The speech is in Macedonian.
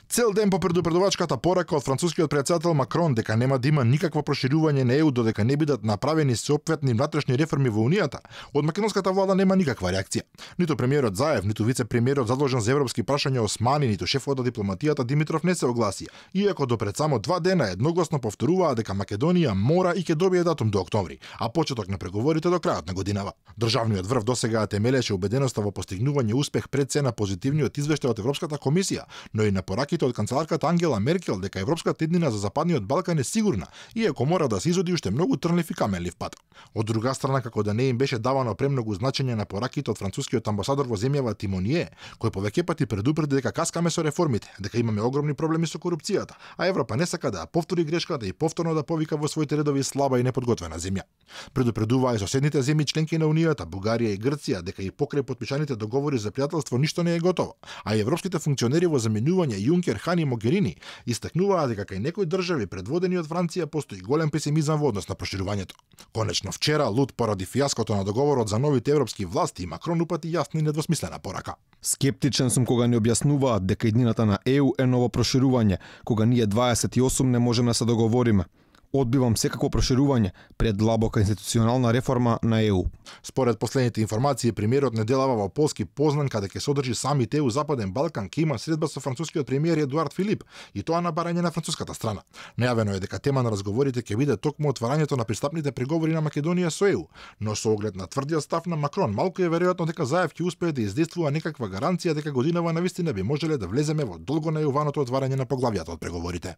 Цел ден по предупредувачката порака од францускиот претседател Макрон дека нема да има никакво проширување на ЕУ додека не бидат направени соопфатни внатрешни реформи во Унијата, од македонската влада нема никаква реакција. Ниту премиерот Заев, ниту вице-премиерот задолжен за европски прашања Османи, ниту шефот на дипломатијата Димитров не се огласија, иако до пред само 2 дена едногласно повторуваа дека Македонија мора и ќе добие датум до октомври, а почеток на преговорите до крајот на годинава. Државниот врв досега темелеше убеденоста во постигнување успех пред се на позитивниот извештај од Европската комисија, но и на пораките од канцеларката Ангела Меркел дека европската иднина за Западниот Балкан е сигурна, иако мора да се изоди уште многу трнлив и каменлив пат. Од друга страна, како да не им беше давано премногу значење на пораките од францускиот амбасадор во земјава Тимоние, кој повеќе пати предупреди дека каскаме со реформите, дека имаме огромни проблеми со корупцијата, а Европа не сака да повтори грешката и повторно да повика во своите редови слаба и неподготвена земја. Предупредуваа и соседните земји членки на Унијата, Бугарија и Грција, дека и покрај потпишаните договори за пријателство ништо не е готово, а и европските функционери во заменување Јункер, Хан и Могерини истакнуваа дека кај некои држави предводени од Франција постои голем песимизам во однос на проширувањето. Конечно вчера, лут поради фијаското на договорот за новите европски власти, Макрон упати јасна и недвосмислена порака. Скептичен сум кога ни објаснуваат дека иднината на ЕУ е ново проширување, кога ние 28 не можеме да се договориме. Одбивам секако проширување пред длабока институционална реформа на ЕУ. Според последните информации, премиерот неделава во Полски Познан, каде ќе содржи самит ЕУ Западен Балкан, ќе има средба со францускиот премиер Едуард Филип, и тоа на барање на француската страна. Најавено е дека тема на разговорите ќе биде токму отварањето на пристапните преговори на Македонија со ЕУ, но со оглед на тврдиот став на Макрон, малку е веројатно дека Заев ќе успее да издействува некаква гаранција дека годинава навистина би можеле да влеземе во долго најуваното отварање на поглавјата од преговорите.